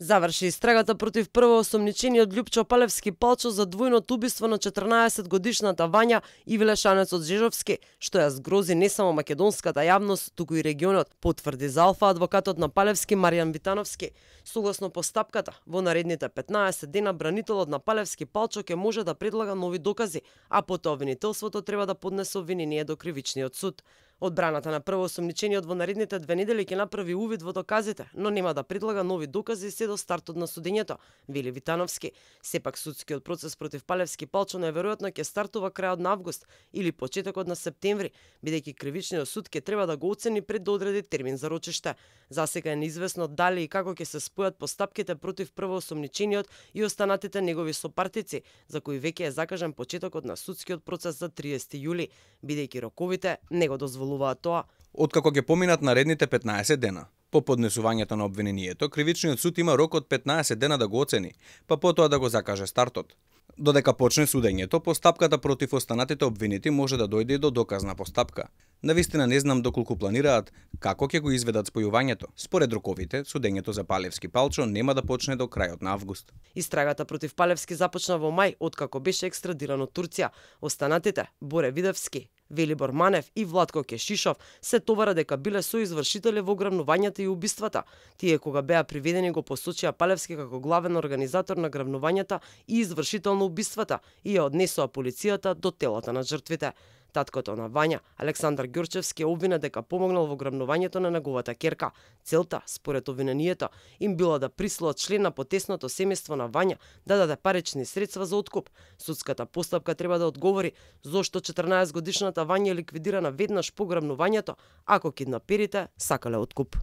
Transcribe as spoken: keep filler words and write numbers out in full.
Заврши истрагата против првоосомничениот Љупчо Палевски Палчо за двојното убиство на четрнаесет годишната Вања Ивлешанецот Жежовски, што ја згрози не само македонската јавност, туку и регионот, потврди за Алфа адвокатот на Палевски Маријан Витановски. Согласно постапката, во наредните петнаесет дена бранителот на Палевски Палчо ќе може да предлага нови докази, а потоа обвинителството треба да поднесе обвинение до кривичниот суд. Одбраната на првоосомничениот во наредните две недели ќе направи увид во доказите, но нема да предлага нови докази се до стартот на судењето, вели Витановски. Сепак судскиот процес против Палевски Палчо најверојатно ќе стартува крајот на август или почетокот на септември, бидејќи кривичниот суд ќе треба да го оцени пред да одреди термин за рочиште. Засега е неизвестно дали и како ќе се спојат постапките против првоосомничениот и останатите негови сопартици, за кои веќе е закажан почетокот на судскиот процес за триесети јули, бидејќи роковите не го дозволуваат тоа. Откако ќе поминат наредните петнаесет дена по поднесувањето на обвинението, кривичниот суд има рок од петнаесет дена да го оцени, па потоа да го закаже стартот. Додека почне судењето, постапката против останатите обвинети може да дојде и до доказна постапка. Навистина не знам доколку планираат како ќе го изведат спојувањето. Според роковите, судењето за Палевски Палчо нема да почне до крајот на август. Истрагата против Палевски започна во мај, откако беше екстрадиран од Турција. Останатите, Боре Видевски, Велибор Манев и Владко Кешишов, се товара дека биле соизвршители во грабнувањата и убиствата. Тие кога беа приведени го посочија Палевски како главен организатор на грабнувањата и извршител на убиствата и ја однесоа полицијата до телата на жртвите. Таткото на Вања, Александар Ѓорчевски, обвина дека помогнал во грабнувањето на неговата ќерка. Целта, според обвинението, им било да присилат член на потесното семејство на Вања да даде парични средства за откуп. Судската постапка треба да одговори зошто четрнаесет годишната Вања е ликвидирана веднаш по грабнувањето, ако киднаперите сакале откуп.